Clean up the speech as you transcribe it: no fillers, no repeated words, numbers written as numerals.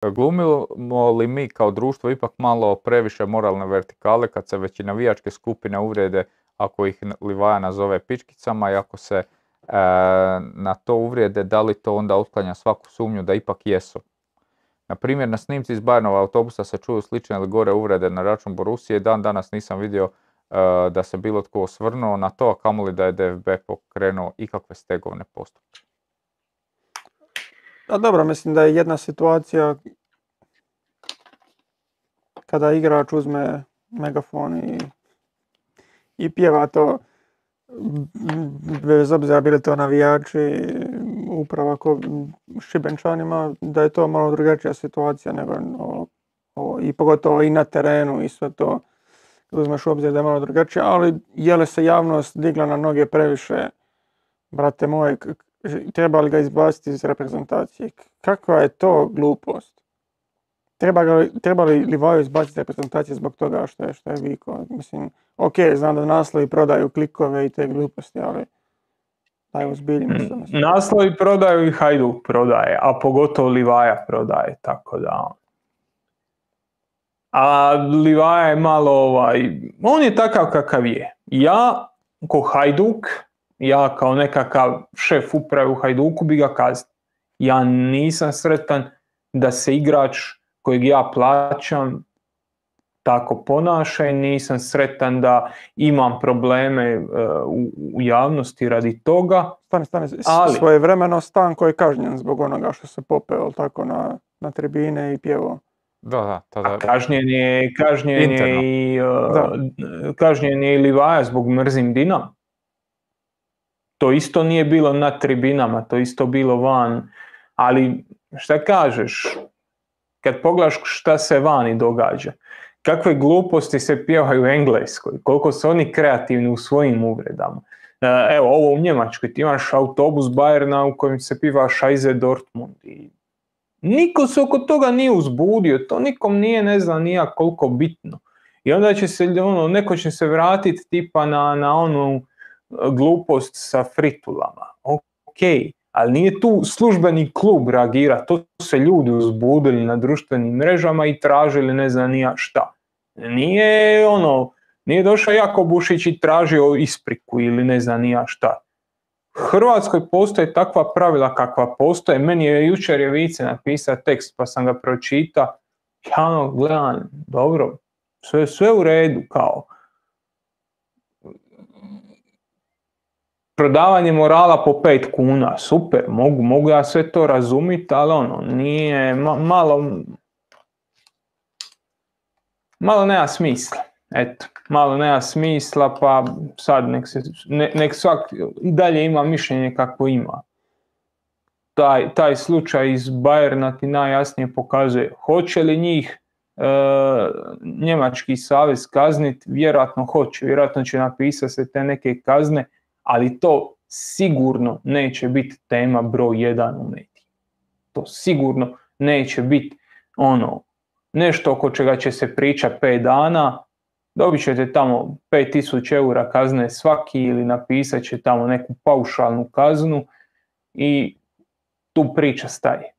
Glumimo li mi kao društvo ipak malo previše moralne vertikale kad se već i navijačke skupine uvrijede ako ih Livaja nazove pičkicama i ako se na to uvrijede, da li to onda otklanja svaku sumnju da ipak jesu? Na primjer, na snimci iz Bayernova autobusa se čuju slične ili gore uvrede na račun Borussije i dan danas nisam vidio da se bilo tko osvrnuo na to, a kamoli da je DFB pokrenuo ikakve stegovne postupke. A dobro, mislim da je jedna situacija kada igrač uzme megafon i pjeva to, bez obzira bili to navijači, upravo ako Šibenčanima, da je to malo drugačija situacija nego i pogotovo i na terenu i sve to. Uzmeš u obzir da je malo drugačije, ali je li se javnost digla na noge previše, brate moj, treba li ga izbaciti iz reprezentacije? Kakva je to glupost? Treba li Livaju izbaciti iz reprezentacije zbog toga što je vikao? Mislim, ok, znam da naslovi prodaju klikove i te gluposti, ali daj ozbiljimo se. Naslovi prodaju i Hajduk prodaje, a pogotovo Livaja prodaje, tako da... A Livaja je malo on je takav kakav je. Ja, ko Hajduk, ja kao nekakav šef uprave u Hajduku bi ga kaznio. Ja nisam sretan da se igrač kojeg ja plaćam tako ponaša i nisam sretan da imam probleme u javnosti radi toga. Stani, ali svojevremeno Stanko je kažnjen zbog onoga što se popeo tako na tribine i pjevao. Da. Kažnjen je i Livaja zbog mrzim Dinam. To isto nije bilo na tribinama, to isto bilo van. Ali šta kažeš, kad pogledaš šta se vani događa, kakve gluposti se pjevaju u Engleskoj, koliko su oni kreativni u svojim uvredama. Evo, ovo u Njemačkoj, ti imaš autobus Bayerna u kojem se piva Scheiße Dortmund i niko se oko toga nije uzbudio, to nikom nije, ne znam nija koliko bitno. I onda će se, neko će se vratiti tipa na onu glupost sa fritulama. Ok, ali nije tu službeni klub reagira, to su se ljudi uzbudili na društvenim mrežama i tražili ne znam nija šta. Nije došao Jakobušić i tražio ispriku ili ne znam nija šta. U Hrvatskoj postoje takva pravila kakva postoje. Meni je jučer Vice napisao tekst pa sam ga pročitao. Ja gledam, dobro, sve u redu, kao. Prodavanje morala po 5 kuna, super, mogu ja sve to razumjeti, ali nije, malo nema smisla. Eto, malo nema smisla, pa sad nek svak i dalje ima mišljenje kako ima. Taj slučaj iz Bayerna ti najjasnije pokazuje hoće li njih Njemački savez kazniti, vjerojatno hoće, vjerojatno će napisati se te neke kazne, ali to sigurno neće biti tema broj 1 u mediji. To sigurno neće biti nešto oko čega će se pričati 5 dana, dobit ćete tamo 5.000 eura kazne svaki ili napisat će tamo neku paušalnu kaznu i tu priča staje.